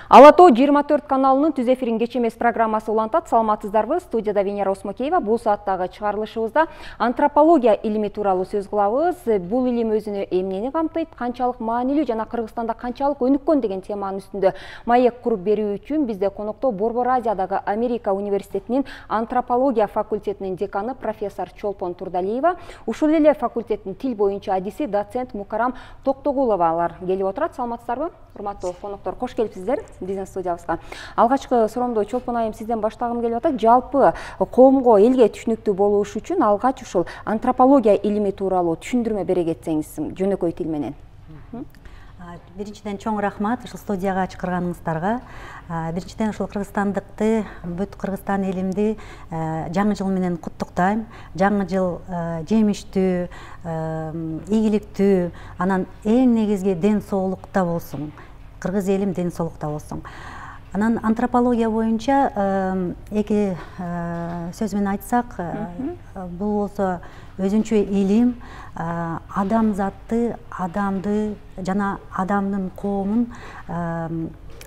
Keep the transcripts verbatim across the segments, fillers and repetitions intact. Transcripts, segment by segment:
Ала тоо жыйырма төрт каналынын түз эфирин кеч эмес программасы улантат. Саламатсыздарбы? Студияда Венера Осмокеева. Бул сааттагы чыгарылышыбызда антропология илими тууралуу сөз кылабыз. Бул илим өзүнө эмнени камтыйт, канчалык маанилүү жана Кыргызстанда канчалык өнүккөн деген теманын үстүндө маек куруп берүү үчүн бизде конокто Борбор Азиядагы Америка университетинин антропология факультетинин деканы профессор Чолпон Турдалиева, ушул эле факультеттин тил боюнча адиси доцент Мукарам Токтогуловалар келип отурат. Саламатсыздарбы? Урматтуу коноктор, кош келипсиздер биздин студиябызга. Алгачкы суроомду Чолпон айым сизден баштагым келип атат. Жалпы коомго, элге түшүнүктүү болуш үчүн алгач ушул антропология илими тууралуу түшүндүрмө бере кетсеңиз жөнөкөй тил менен. Биринчиден чоң рахмат ушул студияга чакырганыңыздарга. Биринчиден ушул кыргызстандыкты, бүт Кыргызстан элимди жаңы жыл менен куттуктайм. Жаңы жыл жемиштүү, ийгиликтүү, анан эң негизги ден соолукта болсун. Кыргыз элим ден соолукта болсун. Анан антропология боюнча эки сөз менен айтсак, бул болсо өзүнчө илим, адамзатты, адамды жана адамдын коомун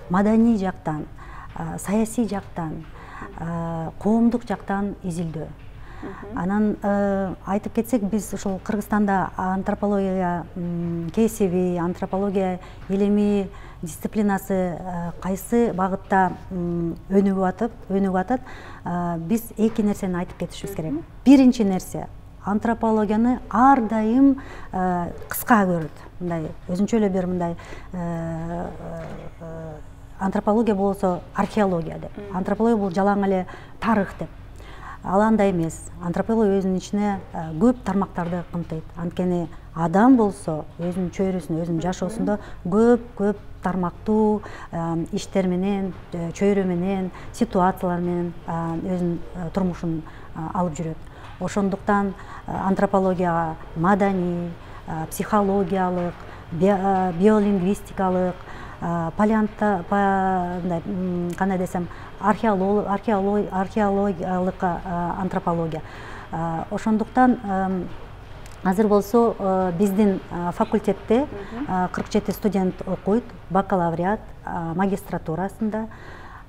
маданий жактан, саясий жактан, коомдук жактан изилдөө. Анан айтып кетсек, биз ушул Кыргызстанда антропология кесиби, антропология илими дисциплинасы кайсы багытта өнүгүп атып, өнүгүп атат, биз эки нерсени айтып кетишибиз керек. Биринчи нерсе, антропологияны ар дайым кыска көрөт. Мындай өзүнчө эле бир мындай антропология болсо археология деп. Антропология бул жалаң эле тарых деп. Ал андай эмес. Антропология өзүнүн ичине көп тармактарды камтыйт. Анткени адам болсо өзүнүн чөйрөсүндө, өзүнүн жашоосунда көп-көп тармактуу иштер менен, чөйрө менен, ситуациялар менен өзүнүн турмушун алып жүрөт. Ошондуктан антропологияга маданий, психологиялык, биолингвистикалык, палеонто, кандай десем, археологиялык антропология. Ошондуктан азыр болсо биздин факультетте кырк жети студент окуйт, бакалавриат, магистратурасында.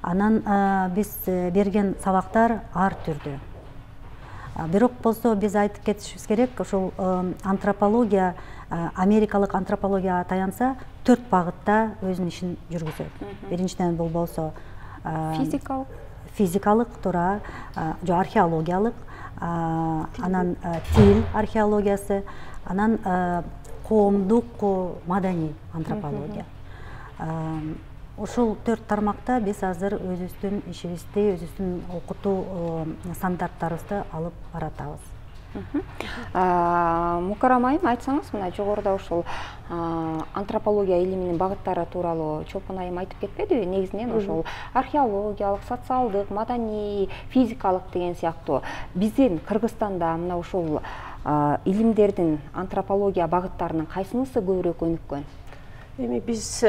Анан биз берген сабактар ар түрдүү. Бирок болсо биз айтып кетишибиз керек, ушул антропология, америкалык антропологияга таянса, төрт багытта өзүнүн ишин жүргүзөт. Биринчиден бул болсо физикалык, физикалык туура, жо археологиялык, анан тил археологиясы, анан коомдук, маданий антропология. Ушул төрт тармакта биз азыр өзүбүздүн ишибизди, өзүбүздүн окутуу стандарттарыбызды алып баратабыз. Мукарам айым, айтсаңыз, мына жогоруда ушул антропология илиминин багыттары тууралуу Чолпон айым айтып кетпедиби? Негизинен ушул археологиялык, социалдык, маданий, физикалык деген сыяктуу биздин Кыргызстанда мына ушул илимдердин антропология багыттарынын кайсынысы көбүрөөк өнүккөн? Эми биз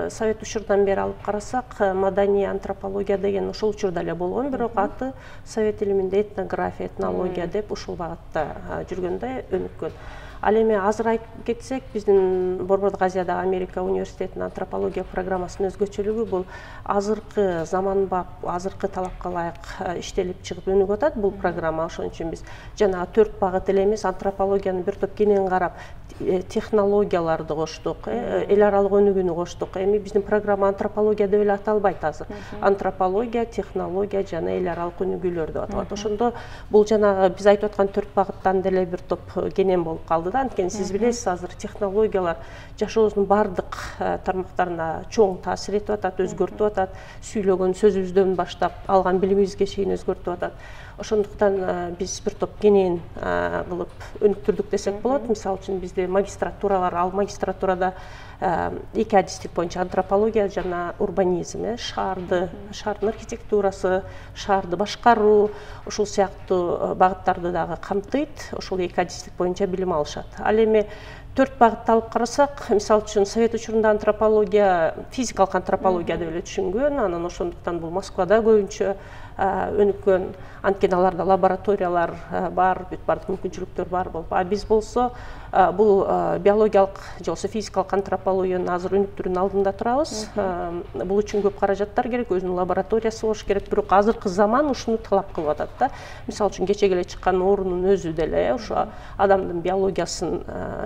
совет учурдан бери алып карасак, маданий антропология деген ушул учурда эле болгон, бирок аты совет илиминде этнография, этнология деп ушул багытта жүргөндө өнүккөн. Ал эми азыр айтып кетсек, биздин Борбордук Азиядагы Америка университетинин антропология программасынын өзгөчөлүгү бул азыркы заманбап, азыркы талапка ылайык иштелип чыгып өнүгүп атат бул программа. Ошон үчүн биз жана төрт багыт эле эмес, антропологияны бир топ кенен карап, технологияларды коштук, эл аралык өнүгүүнү коштук. Эми биздин программа антропология деп эле аталбайт азыр. Антропология, технология жана эл аралык өнүгүүлөр деп аталат. Ошондо бул жанагы биз айтып аткан төрт багыттан деле бир топ кенен болуп калды да. Анткени сиз билесиз, азыр технологиялар жашообуздун бардык тармактарына чоң таасир этип атат, өзгөртүп атат. Сүйлөгөн сөзүбүздөн баштап алган билимибизге чейин өзгөртүп атат. Ошондуктан биз бир топ кенен кылып өнүктүрдүк десек болот. Мисалы үчүн бизде магистратуралар, ал магистратурада эки адистик боюнча антропология жана урбанизм, шаарды, шаардын архитектурасы, шаарды башкаруу, ушул сыяктуу багыттарды дагы камтыйт. Ушул эки адистик боюнча билим алышат. Ал эми төрт багытты алып карасак, мисалы үчүн совет учурунда антропология физикалык антропология деп эле түшүнгөн, анан ошондуктан бул Москвада көбүнчө өнүккөн, анткени аларда лабораториялар бар, бүт бардык мүмкүнчүлүктөр бар болуп. А биз болсо бул биологиялык же болбосо физикалык антропологиянын азыр өнүктүрүүнүн алдында турабыз. Бул үчүн көп каражаттар керек, өзүнүн лабораториясы болуш керек, бирок азыркы заман ушуну талап кылып атат да. Мисалы үчүн кече келе чыккан оорунун өзү деле ошо адамдын биологиясын,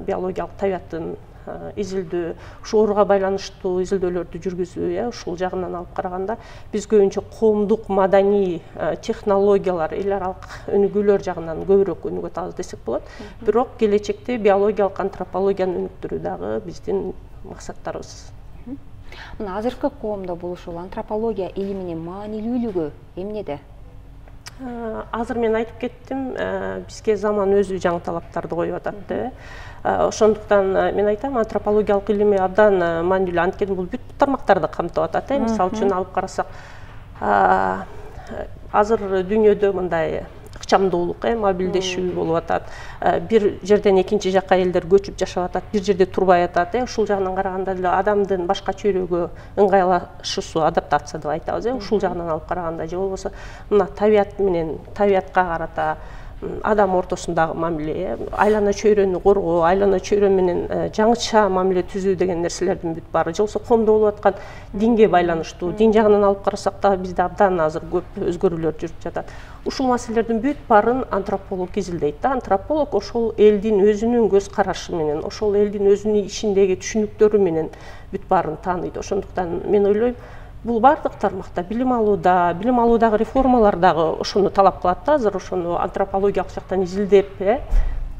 биологиялык табиятын изилдөө, ушу ооруга байланыштуу изилдөөлөрдү жүргүзүү, э, ушул жагынан алып караганда биз көбүнчө коомдук маданий технологиялар, эл аралык өнүгүүлөр жагынан көбүрөөк өнүгүп атабыз десек болот. Бирок келечекте биологиялык антропологияны өнүктүрүү дагы биздин максаттарыбыз. Мына азыркы коомдо бул ушул антропология илиминин маанилүүлүгү эмнеде? Азыр мен айтып кеттим, бизге заман өзү жаңы талаптарды коюп атат да. Ошондуктан мен айтам, антропологиялык илими абдан маанилүү, анткени бул бүт тармактарды камтып атат. Мисалы үчүн алып карасак, азыр дүйнөдө мындай ыкчамдуулук, мобилдешүү болуп атат. Бир жерден экинчи жакка элдер көчүп жашап атат, бир жерде турбай атат. Ушул жагынан караганда деле адамдын башка чөйрөгө ыңгайлашуусу, адаптация деп айтабыз. Ушул жагынан алып караганда же болбосо мына табият менен, табиятка карата адам ортосундагы мамиле, айлана чөйрөнү коргоо, айлана чөйрө менен жаңыча мамиле түзүү деген нерселердин бүт баары, же болбосо коомдо болуп аткан динге байланыштуу, дин жагынан алып карасак да бизде абдан азыр көп өзгөрүүлөр жүрүп жатат. Ушул маселелердин бүт баарын антрополог изилдейт да. Антрополог ошол элдин өзүнүн көз карашы менен, ошол элдин өзүнүн ичиндеги түшүнүктөрү менен бүт баарын тааныйт. Ошондуктан мен ойлойм, бул бардык тармакта билим алууда, билим алуудагы реформалар дагы ошону талап кылат да. Азыр ошону антропологиялык жактан изилдеп, э,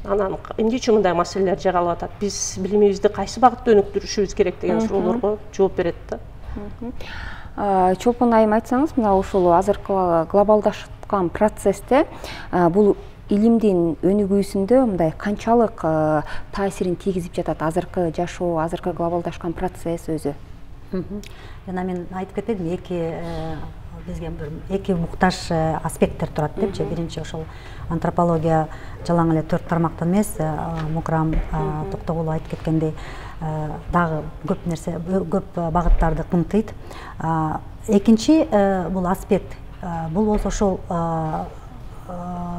анан эмнече мындай маселелер жаралып атат, биз билимибизди кайсы багытта өнүктүрүшүбүз керек деген суроолорго жооп берет да. Чолпон айым, айтсаңыз, мына ушул азыркы глобалдашкан процессте бул илимдин өнүгүүсүндө мындай канчалык таасирин тийгизип жатат азыркы жашоо, азыркы глобалдашкан процесс өзү? Жана мен айтып кетпедим, эки бизге бир эки муктаж аспекттер турат депчи. Биринчи ошол антропология жалаң эле төрт тармактан эмес, Мукрам Токтогулов айтып кеткендей дагы көп нерсе, көп багыттарды камтыйт. Экинчи бул аспект, бул болсо ошол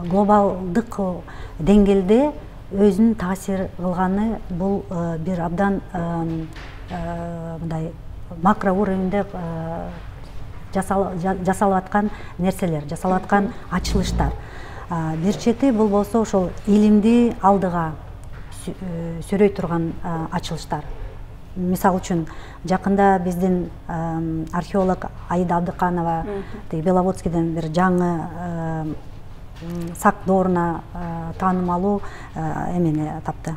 глобалдык деңгээлде өзүнүн таасир кылганы, бул бир абдан мындай макро уровеньде жасалып аткан нерселер, жасалып аткан ачылыштар. Бир чети бул болсо ошол илимди алдыга сүйрөй турган ачылыштар. Мисалы үчүн, жакында биздин археолог Аида Абдыканова Беловодскийден бир жаңы сак дооруна таанымалуу эмени тапты,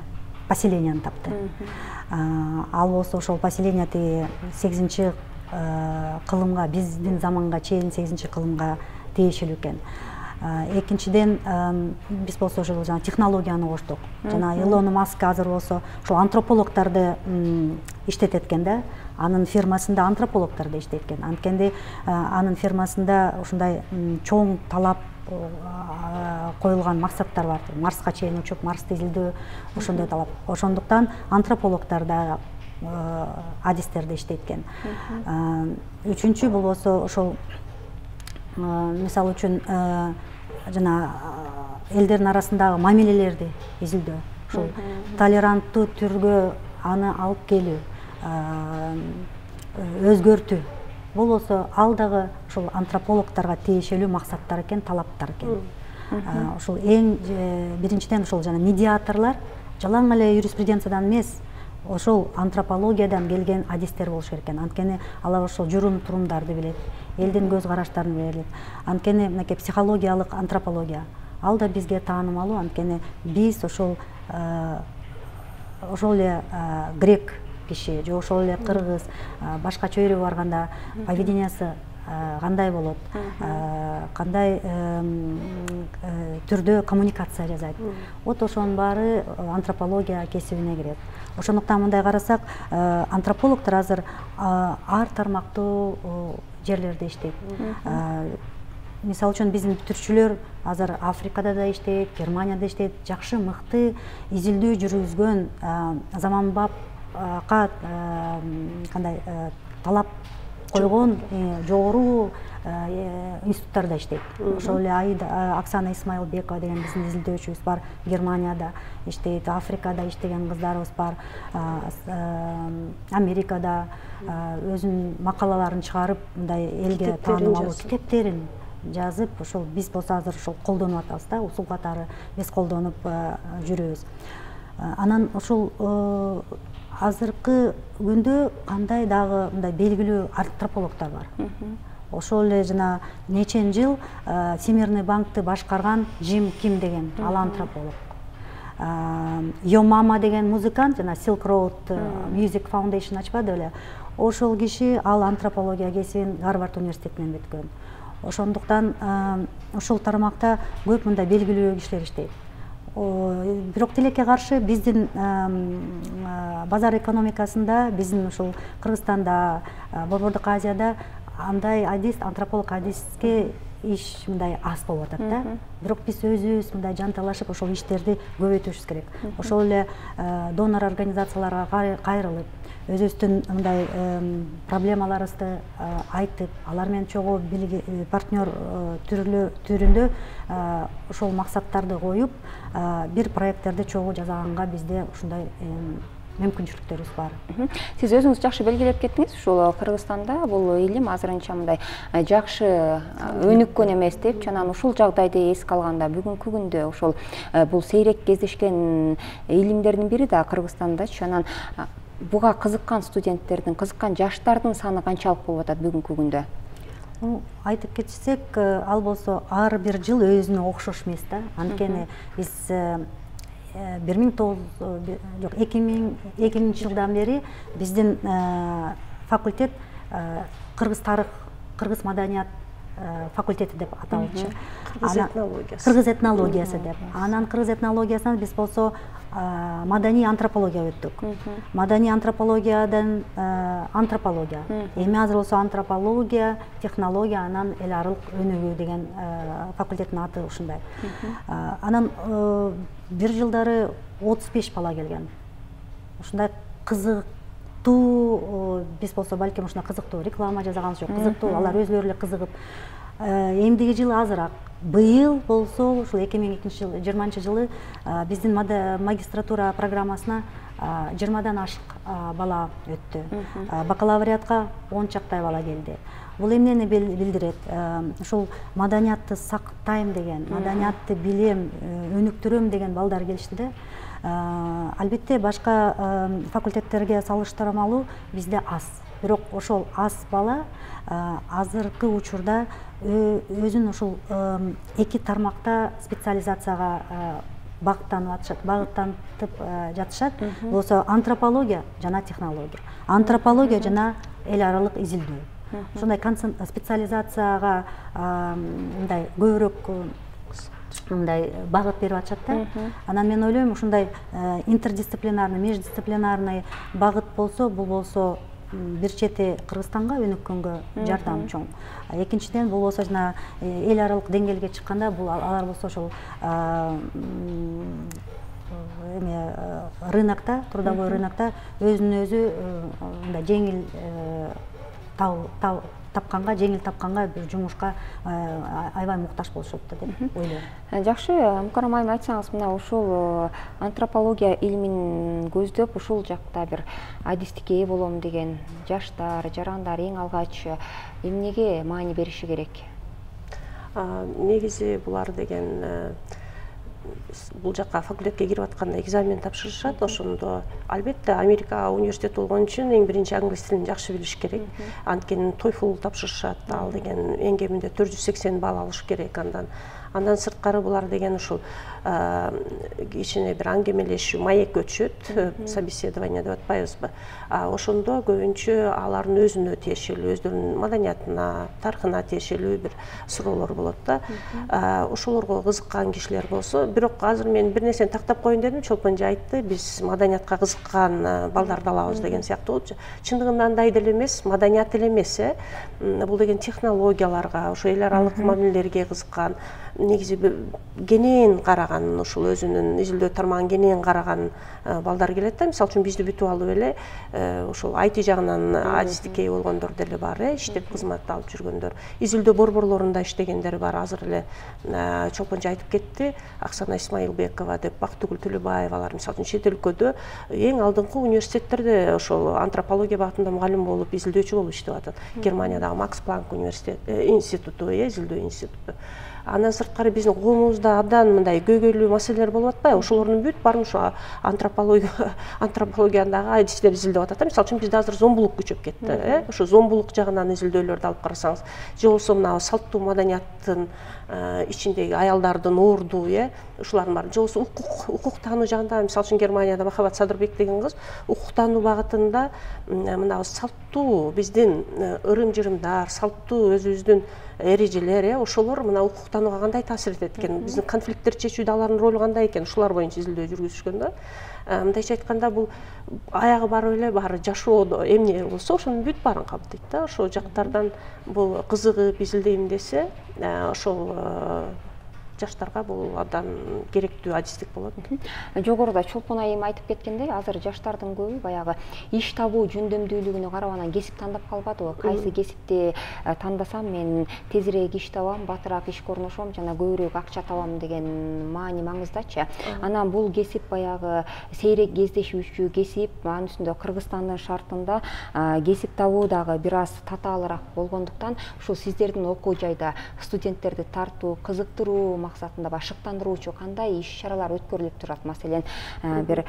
поселенияны тапты. Ал болсо ошол поселение тиги сегизинчи кылымга, биздин заманга чейин сегизинчи кылымга тиешелүү экен. Экинчиден, биз болсо ошол жана технологияны коштук. Жана Илон Маск азыр болсо ошол антропологдорду иштетет экен да. Анын фирмасында антропологдор да иштейт экен. Анткенде анын фирмасында ушундай чоң талап коюлган максаттар бар. Марска чейин учуп, Марсты изилдөө, ошондой талап. Ошондуктан антропологдор да адистерди иштейт экен. Үчүнчү бул болсо ошол мисалы үчүн жана элдердин арасындагы мамилелерди изилдөө, ошол толеранттуу түргө аны алып келүү, өзгөртүү. Бул болсо ал дагы ошол антропологдорго тиешелүү максаттар экен, талаптар экен. Ошол эң биринчиден ошол жана медиаторлор жалаң эле юриспруденциядан эмес, ошол антропологиядан келген адистер болуш керек экен. Анткени алар ошол журум турумдарды билет, элдин көз караштарын билет. Анткени мынакей психологиялык антропология ал да бизге таанымалуу. Анткени биз ошол ошол эле грек киши же ошол эле кыргыз башка чөйрөгө барганда поведениясы кандай болот, кандай түрдө коммуникация жасайт. Вот ошонун баары антропология кесибине кирет. Ошондуктан мындай карасак, антропологдор азыр ар тармактуу жерлерде иштейт. мисалы үчүн биздин бүтүрүүчүлөр азыр Африкада да иштейт, Германияда иштейт, жакшы мыкты изилдөө жүргүзгөн заманбапка кандай талап койгон жогору институттарда иштейт. Ошол эле Аида Оксана Исмаилбекова деген биздин изилдөөчүбүз бар, Германияда иштейт, Африкада иштеген кыздарыбыз бар, Америкада өзүнүн макалаларын чыгарып, мындай элге таанымал китептерин жазып, ошол биз болсо азыр ошол колдонуп атабыз да, усул катары биз колдонуп жүрөбүз. Анан ошол азыркы күндө кандай дагы мындай белгилүү антропологдор бар. Ошол эле жана нечен жыл Всемирный банкты башкарган Джим Ким деген ал антрополог. Йомама деген музыкант, жана Silk Road Music Foundation ачпады беле. Ошол киши ал антропология кесибин Гарвард университетинен бүткөн. Ошондуктан ошол тармакта көп мындай белгилүү кишилер иштейт. Бирок тилекке каршы биздин базар экономикасында, биздин ушул Кыргызстанда, Борбордук Азияда андай адис, антрополог адиске иш мындай аз болуп атат да. Бирок биз өзүбүз мындай жанталашып ошол иштерди көбөйтүшүбүз керек. Ошол эле донор организацияларга кайрылып, өзүбүздүн мындай проблемаларыбызды айтып, алар менен чогуу партнер түрүндө ошол максаттарды коюп, бир проекттерди чогуу жасаганга бизде ушундай мүмкүнчүлүктөрүбүз бар. Сиз өзүңүз жакшы белгилеп кеттиңиз, ушул Кыргызстанда бул илим азырынча мындай жакшы өнүккөн эмес деп, анан ушул жагдайды эске алганда бүгүнкү күндө ошол бул сейрек кездешкен илимдердин бири да Кыргызстандачы. Анан буга кызыккан студенттердин, кызыккан жаштардын саны канчалык болуп атат бүгүнкү күндө? Айтып кетсек, ал болсо ар бир жыл өзүнө окшош эмес да. Анткени биз бир миң тогуз жок эки миңинчи жылдан бери биздин факультет кыргыз тарых, кыргыз маданият факультети деп аталчу. Кыргыз этнологиясы. Кыргыз этнологиясы деп. Анан кыргыз этнологиясынан биз болсо маданий антропология өттүк. Маданий антропологиядан антропология. Эми азыр болсо антропология, технология, анан эл аралык өнүгүү деген факультеттин аты ушундай. Анан бир жылдары отуз беш бала келген. Ушундай кызыктуу, биз болсо балким ушундай кызыктуу реклама жасаганбыз жок, кызыктуу, алар өзүлөрү эле кызыгып. Эмдиги жылы азыраак. Быйыл болсо ушул эки миң жыйырманчы жылы биздин магистратура программасына жыйырмадан ашык бала өттү. Бакалавриатка он чактай бала келди. Бул эмнени билдирет? Ушул маданиятты сактайм деген, маданиятты билем, өнүктүрөм деген балдар келишти да. Албетте башка факультеттерге салыштырмалуу бизде аз. Бирок ошол аз бала азыркы учурда өзүн ушул эки тармакта специализацияга багыттанып жатышат. Болсо антропология жана технология. Антропология жана эл аралык изилдөө. Ошондой специализацияга мындай көбүрөөк мындай багыт берип атышат да. Анан мен ойлойм, ушундай интердисциплинарный, междисциплинарный багыт болсо, бул болсо бир чети Кыргызстанга өнүккөнгө жардам чоң. Экинчиден, бул болсо жана эл аралык деңгээлге чыкканда, бул алар болсо ошол эме рынокто, трудовой рынокто өзүнүн өзү мындай жеңил тапканга, жеңил тапканга бир жумушка аябай муктаж болушат деп ойлойм. Жакшы, Мукаррам айым, айтсаңыз, мына ушул антропология илимин көздөп, ушул жакта бир адистикке ээ болом деген жаштар, жарандар эң алгач эмнеге маани бериши керек? Негизи булар деген бул жакка факультетке кирип атканда экзамен тапшырышат. Ошондо албетте Америка университети болгон үчүн эң биринчи англис тилин жакшы билиш керек. Анткени TOEFL тапшырышат. Ал деген эң кеминде төрт жүз сексен балл алыш керек. Андан Андан сырткары булар деген ушул кичине бир аңгемелешүү, маек өтүшөт, собеседование деп атпайбызбы. Ошондо көбүнчө алардын өзүнө тиешелүү, өздөрүнүн маданиятына, тарыхына тиешелүү бир суроолор болот да. Ошолорго кызыккан кишилер болсо, бирок азыр мен бир нерсени тактап коеюн дедим, Чолпон айтты, биз маданиятка кызыккан балдарды алабыз деген сыяктуу болчу. Чындыгында андай деле эмес, маданият эле эмес, э. Бул деген технологияларга, ошо эл аралык мамилелерге кызыккан, негизи кенен караган, ушул өзүнүн изилдөө тармагын кенен караган балдар келет да. Мисалы үчүн бизди бүтүп алып эле ошол ай ти жагынан адистикке болгондор деле бар, э, иштеп кызмат алып жүргөндөр. Изилдөө борборлорунда иштегендер бар. Азыр эле Чолпончу айтып кетти, Аксана Исмаилбекова деп, Бактыгүл Төлөбаевалар, мисалы үчүн чет өлкөдө эң алдыңкы университеттерде ошол антропология багытында мугалим болуп, изилдөөчү болуп иштеп атат. Германиядагы Макс Планк университет институту, э, изилдөө институту. Андан сырткары биздин коомубузда абдан мындай көйгөйлүү маселелер болуп атпайбы? Ошолордун бүт баарын ошо антропология антропологиядагы адистер изилдеп атат. Мисалы үчүн бизде азыр зомбулук күчөп кетти, э? Ошо зомбулук жагынан изилдөөлөрдү алып карасаңыз, же болбосо мына салттуу маданияттын ичиндеги аялдардын орду, э, ушулардын баары, же болбосо укук, укук таануу жагында, мисалы үчүн Германияда Махабат Садырбек деген кыз укук таануу багытында мына салттуу биздин ырым-жырымдар, салттуу өзүбүздүн эрежелер, э, ошолор мына укук таанууга кандай таасир этет экен, биздин конфликттерди чечүүдө алардын ролу кандай экен, ушулар боюнча изилдөө жүргүзүшкөн да. Мындайча айтканда, бул аягы барып эле баары жашоодо эмне болсо ошонун бүт баарын камтыйт да. Ошол жактардан бул кызыгып изилдейм десе, ошол жаштарга бул абдан керектүү адистик болот. Жогоруда Чолпон айым айтып кеткендей, азыр жаштардын көбү баягы иш табуу жөндөмдүүлүгүнө карап анан кесип тандап калбадыбы? Кайсы кесипти тандасам мен тезирээк иш табам, батыраак ишке орношом, жана көбүрөөк акча табам деген маани маңыздачы. Анан бул кесип баягы сейрек кездешүүчү кесип, анын үстүндө Кыргызстандын шартында кесип табуу дагы бир аз татаалыраак болгондуктан, ушул сиздердин окуу жайда студенттерди тартуу, кызыктыруу максатында башыктандыруучу кандай иш-чаралар өткөрүлүп турат? Маселен, бир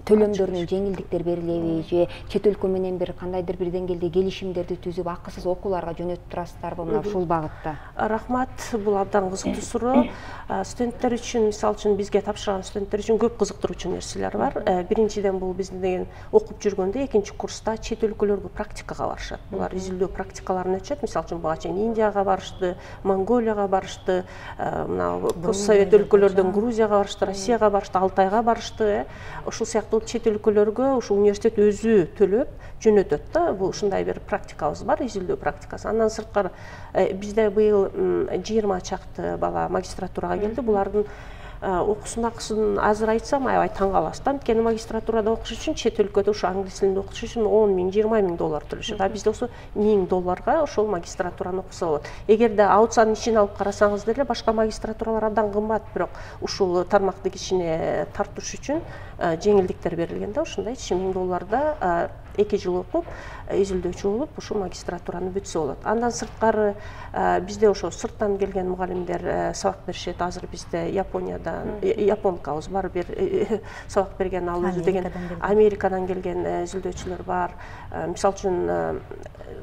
төлөмдөрүнүн жеңилдиктер берилеби, же чет өлкө менен бир кандайдыр бир деңгээлде келишимдерди түзүп, акысыз окууларга жөнөтүп турасыздарбы мына ушул багытта? Рахмат, бул абдан кызыктуу суроо. Студенттер үчүн, мисалы үчүн бизге тапшырган студенттер үчүн көп кызыктыруучу нерселер бар. Биринчиден, бул биздин деген окуп жүргөндө экинчи курста чет өлкөлөргө практикага барышат. Булар изилдөө практикаларын өтүшөт. Мисалы үчүн буга чейин Индияга барышты, Монголияга барышты, мына постсовет өлкөлөрдөн Грузияга барышты, Россияга барышты, Алтайга барышты. Ушул сыяктуу чет өлкөлөргө ушул университет өзү төлөп жөнөтөт да. Бул ушундай бир практикабыз бар, изилдөө практикасы. Андан сырткары бизде быйыл жыйырма чакты бала магистратурага келди. Булардын окуусун акысын азыр айтсам аябай таң каласыз да. Анткени магистратурада окуш үчүн чет өлкөдө ушу англис тилинде окуш үчүн он миң, жыйырма миң доллар төлөшөт. А бизде болсо миң долларга ошол магистратураны окуса болот. Эгерде аутсанын ичин алып карасаңыз деле башка магистратуралар абдан кымбат, бирок ушул тармакты кичине тартыш үчүн жеңилдиктер берилген да. Ушундай миң долларда эки жыл окуп, изилдөөчү болуп, ушул магистратураны бүтсө болот. Андан сырткары бизде ошо сырттан келген мугалимдер сабак беришет. Азыр бизде Япониядан, японкабыз бар, бир сабак берген, ал өзү деген Америкадан келген изилдөөчүлөр бар. Мисалы үчүн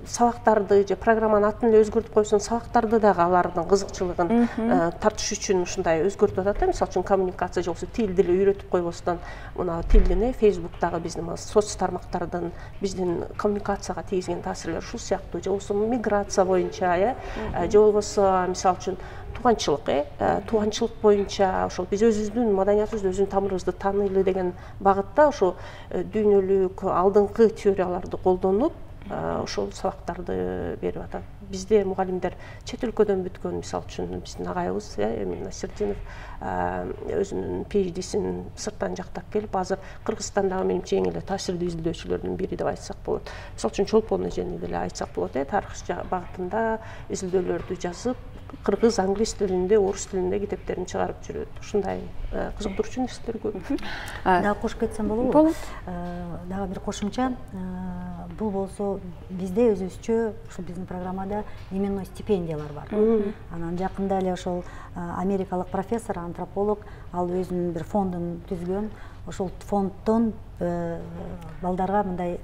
сабактарды же программанын атын эле өзгөртүп койсоң, сабактарды дагы алардын кызыкчылыгын тартыш үчүн ушундай өзгөртүп атат да. Мисалы үчүн коммуникация же болбосо тилди эле үйрөтүп койбостон, мына тилдин, Facebooktагы биздин соц тармактардын биздин коммуникацияга тийгизген таасирлер ушул сыяктуу, же болбосо миграция боюнча, э, же болбосо мисалы үчүн тууганчылык, э, тууганчылык боюнча ошол биз өзүбүздүн маданиятыбызды, өзүбүздүн тамырыбызды тааныйлы деген багытта ошо дүйнөлүк алдыңкы теорияларды колдонуп, ошол сабактарды берип атат. Бизде мугалимдер чет өлкөдөн бүткөн, мисалы үчүн биздин агайыбыз Эмин Насирдинов өзүнүн пи эйч дисин сырттан жактап келип, азыр Кыргызстандагы менимче эң эле таасирдүү изилдөөчүлөрдүн бири деп айтсак болот. Мисалы үчүн Чолпон эжени деле айтсак болот, э, тарых багытында изилдөөлөрдү жазып, кыргыз, англис тилинде, орус тилинде китептерин чыгарып жүрөт. Ушундай кызыктыруучу нерселер көп. Дагы кошуп кетсем болобу? Болот. Дагы бир кошумча, бул болсо бизде өзүбүзчө ушул биздин программада именной стипендиялар бар. Анан жакында эле ошол америкалык профессор, антрополог, ал өзүнүн бир фондун түзгөн. Ошол фонддон балдарга мындай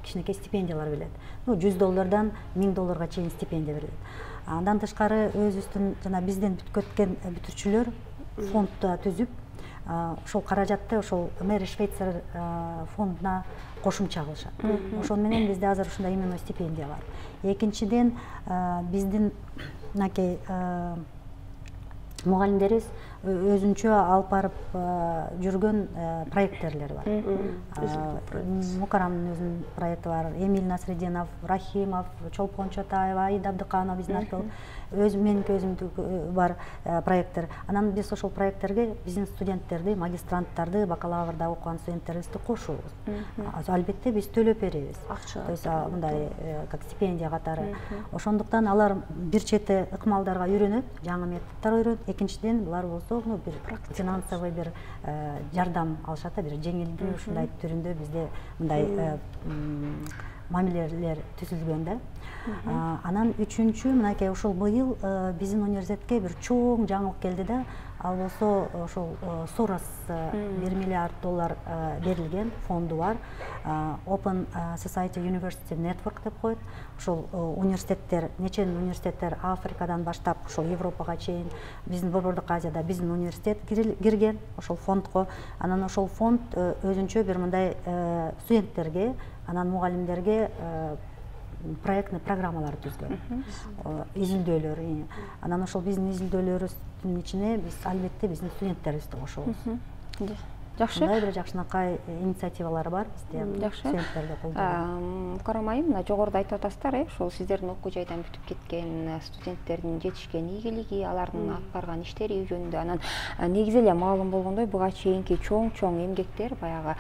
кичинекей стипендиялар берилет. Ну, жүз доллардан миң долларга чейин стипендия берилет. Андан тышкары өзүбүздүн жана бизден бүткүп өткөн бүтүрүүчүлөр фонд түзүп, ошол каражатты ошол Мэри Швейцер фондуна кошумча кылышат. Ошол менен бизде азыр ушундай именно стипендия бар. Экинчиден, биздин мынакей мугалимдерибиз өзүнчө алып барып жүргөн проекттерлер бар. Мукарамдын өзүнүн проекти бар, Эмиль Насрединов, Рахимов, Чолпон Чотаева, Аида Абдыканова биздин археолог, өз меники өзүмдүн бар проекттер. Анан биз ошол проекттерге биздин студенттерди, магистранттарды, бакалаврда окуган студенттерибизди кошобуз. Албетте биз төлөп беребиз. То есть мындай как стипендия катары. Ошондуктан алар бир чети ыкмалдарга үйрөнөт, жаңы методдор үйрөнөт. Экинчиден булар болсо бир финансовый бир жардам алышат, бир жеңилдүү ушундай түрүндө бизде мындай мамилелер түзүлгөн да. Анан үчүнчү, мынакей ушул быйыл биздин университетке бир чоң жаңылык келди да, ал болсо ошол Сорос бир миллиард доллар берилген фонду бар. Open Society University Network деп коет. Ошол университеттер, нечен университеттер Африкадан баштап ошол Европага чейин, биздин Борбордук Азияда биздин университет кирген ошол фондго. Анан ошол фонд өзүнчө бир мындай студенттерге, анан мугалимдерге проектный программалар түзгөн, изилдөөлөр. Анан ошол биздин изилдөөлөрүбүздүн ичине биз албетте биздин студенттерибизди кошобуз. Жакшы. Мындай бир жакшынакай инициативалар бар бизде. Студенттерди колдойбуз. Мукарам айым, мына жогоруда айтып атасыздар, ошол сиздердин окуу жайдан бүтүп кеткен студенттердин жетишкен ийгилиги, алардын алып барган иштери жөнүндө. Анан негизи эле маалым болгондой, буга чейинки чоң-чоң эмгектер баягы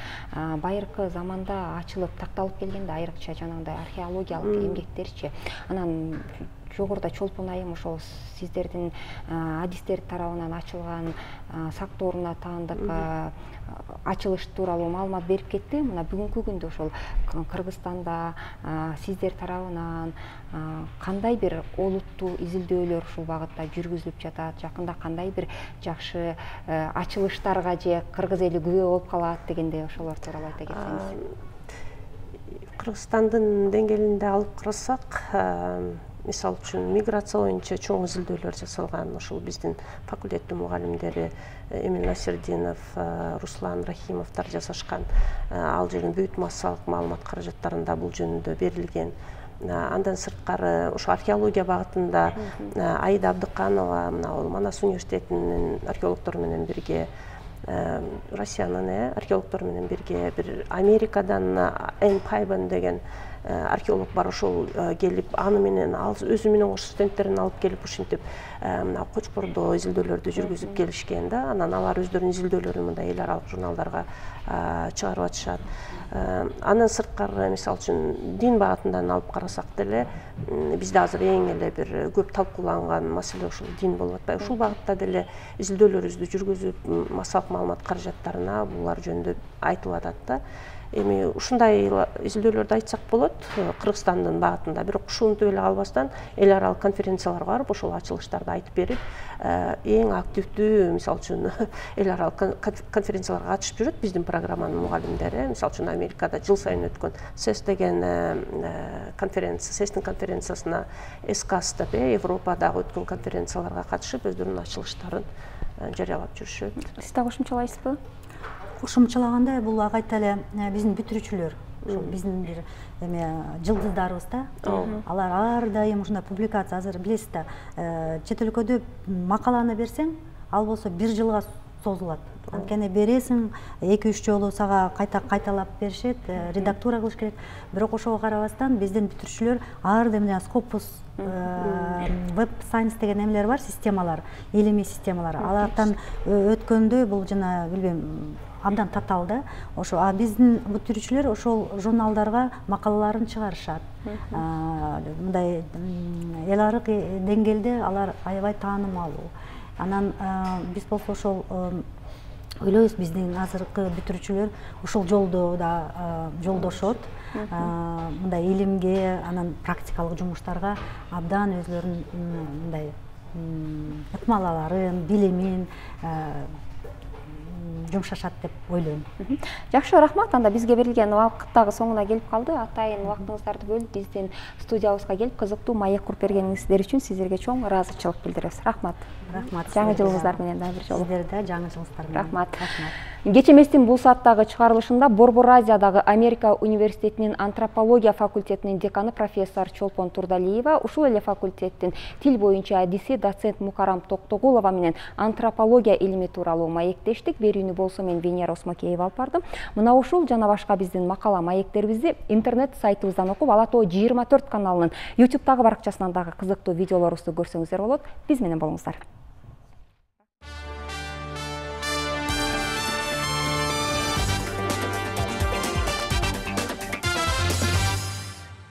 байыркы заманда ачылып такталып келгенде, айрыкча жанагындай археологиялык эмгектерчи. Анан жогоруда Чолпон айым ошол сиздердин адистер тарабынан ачылган сактооруна таандык ачылыш тууралуу маалымат берип кетти. Мына бүгүнкү күндө ошол Кыргызстанда сиздер тарабынан кандай бир олуттуу изилдөөлөр ушул багытта жүргүзүлүп жатат, жакында кандай бир жакшы ачылыштарга же кыргыз эли күбө болуп калат дегендей ошолор тууралуу айта кетсеңиз. Кыргызстандын деңгээлинде алып карасак, мисалы үчүн миграция боюнча чоң изилдөөлөр жасалган. Ошол биздин факультеттин мугалимдери Эмиль Насрединов, Руслан Рахимовдор жасашкан. Ал жердин бүт массалык маалымат каражаттарында бул жөнүндө берилген. Андан сырткары ошо археология багытында Аида Абдыканова, мына ал Манас университетинин археологдору менен бирге, Россиянын археологдору менен бирге бир Америкадан Энн Пайбан деген археолог бар, ошол келип, аны менен ал өзү менен кош студенттерин алып келип ушинтип мына Кочкордо изилдөөлөрдү жүргүзүп келишкен да. Анан алар өздөрүнүн изилдөөлөрүн мындай эл аралык журналдарга чыгарып атышат. Андан сырткары, мисалы үчүн дин багытынан алып карасак деле, бизде азыр эң эле бир көп талкууланган маселе ушул дин болуп атпайбы. Ушул багытта деле изилдөөлөрүбүздү жүргүзүп, массалык маалымат каражаттарына булар жөнүндө айтылып атат да. Эми ушундай изилдөөлөрдү айтсак болот Кыргызстандын багытында, бирок ушунтип эле калбастан эл аралык конференцияларга барып ошол ачылыштарды айтып берип, эң активдүү, мисалы үчүн эл аралык конференцияларга катышып жүрөт биздин программанын мугалимдери. Мисалы үчүн Америкада жыл сайын өткөн сэс деген конференция, сэстин конференциясына, эскас деп Европадагы өткөн конференцияларга катышып өздөрүнүн ачылыштарын жарыялап жүрүшөт. Сиз да кошумчалайсызбы? Кошумчалаганда бул кайта эле биздин бүтүрүүчүлөр, ошол биздин бир эме жылдыздарыбыз да. Алар ар дайым ушундай публикация, азыр билесиз да, чет өлкөдө макаланы берсең, ал болсо бир жылга созулат. Анткени бересиң, эки үч жолу сага кайта кайталап беришет, редактура кылыш керек. Бирок ошого карабастан биздин бүтүрүүчүлөр ар дайым Scopus, Web Science деген эмелер бар, системалар, илимий системалар. Алардан өткөндө бул жана билбейм, абдан татаал да. Ошо а биздин бүтүрүүчүлөр ошол журналдарга макалаларын чыгарышат. Мындай эл аралык деңгээлде алар аябай таанымалуу. Анан биз болсо ошол ойлойбуз, биздин азыркы бүтүрүүчүлөр ушул жолдо да жолдошот. Мындай илимге, анан практикалык жумуштарга абдан өзлөрүнүн мындай ыкмалаларын, билимин жумшашат деп ойлойм. Жакшы, рахмат. Анда бизге берилген убакыт дагы соңуна келип калды. Атайын убактыңыздарды бөлүп биздин студиябызга келип кызыктуу маек куруп бергениңиздер үчүн сиздерге чоң ыраазычылык билдиребиз. Рахмат. Рахмат. Жаңы жылыңыздар менен дагы бир жолу. Сиздерде жаңы жылыңыздар менен. Рахмат. Кече эместин бул сааттагы чыгарылышында Борбор Азиядагы Америка университетинин антропология факультетинин деканы профессор Чолпон Турдалиева, ушул эле факультеттин тил боюнча адиси доцент Мукарам Токтогулова менен антропология илими тууралуу маектештик. Берүүнү болсо мен Венера Осмокеева алып бардым. Мына ушул жана башка биздин макала маектерибизди интернет сайтыбыздан окуп, Ала Тоо жыйырма төрт каналынын ютубтагы баракчасынан дагы кызыктуу видеолорубузду көрсөңүздөр болот. Биз менен болуңуздар.